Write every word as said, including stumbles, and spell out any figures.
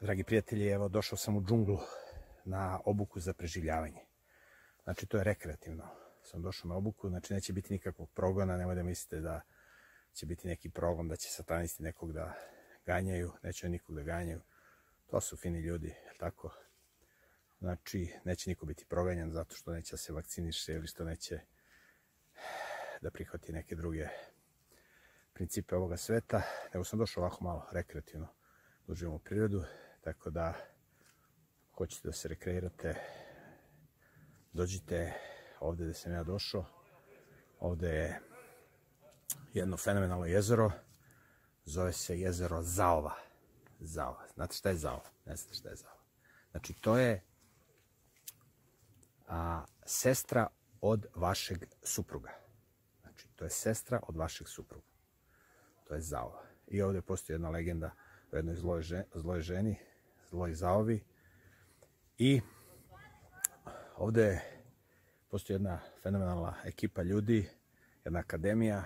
Dragi prijatelji, evo došao sam u džunglu na obuku za preživljavanje. Znači to je rekreativno. Sam došao na obuku, znači neće biti nikakvog progona, nemoj da mislite da će biti neki progon, da će satanisti nekog da ganjaju, neće nikog da ganjaju. To su fini ljudi, je tako? Znači neće niko biti proganjan zato što neće da se vakciniše ili što neće da prihvati neke druge principe ovoga sveta. Nego sam došao ovako malo rekreativno da uživamo u prirodu, tako da hoćete da se rekreirate, dođite ovde gde sam ja došao. Ovde je jedno fenomenalno jezero, zove se jezero Zaova. Zaova. Znate šta je Zaova? Ne znate šta je Zaova. Znači to je a, sestra od vašeg supruga. Znači to je sestra od vašeg supruga. To je Zaova. I ovde postoji jedna legenda o jednoj zloj, ženi, zloj ženi, zloj Zaovi. I ovde postoji jedna fenomenalna ekipa ljudi, jedna akademija